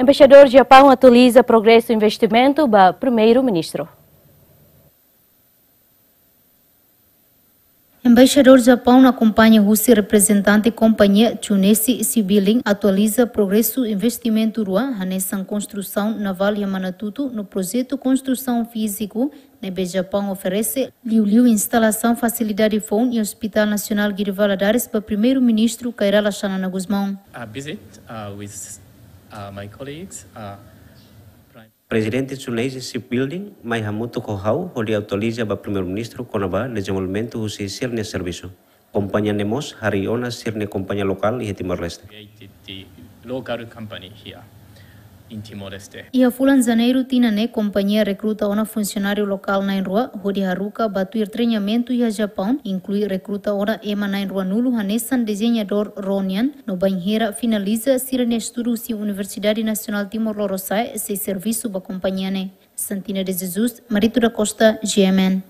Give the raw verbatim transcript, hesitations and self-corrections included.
Embaixadór Japaun atualiza progresu investimentu ba Primeiru-Ministru. Embaixadór Japaun akompaña husi reprezentante kompañia Tsuneishi Shipbuilding atualiza progresu investimentu rua, hanesan konstrusaun navál iha Manatutu no projetu konstrusaun fíziku ne'ebé Japaun oferese, liuliu instalasaun fasilidade foun iha Hospital Nasionál Guido Valadares ba Primeiru-Ministru Kay Rala Xanana Gusmão. A visit uh, with uh, my colleagues, uh, Prime Prezidente Tsuneishi Shipbuilding mai hamutuk ho ha'u hodi atualiza ba Primeiru-Ministru kona-ba dezenvolvimentu husi sira-nia servisu. Kompañia ne'e mós harii ona sira-nia kompañia lokál iha Timor-Leste. Created the local company here in Timor-Leste. Iha fulan Janeiru tinan ne'e, kompañia rekruta ona funsionáriu lokál na'in-rua hodi haruka ba tuir treinamentu iha Japaun, inklui rekruta ona ema na'in-ruanulu hanesan dezeñadór ró nian, no bainhira finaliza sira-nia estudu husi Universidade Nasionál Timor Lorosa'e, sei servisu ba kompañia ne'e. Santina de Jesus, Marito da Costa, G M N.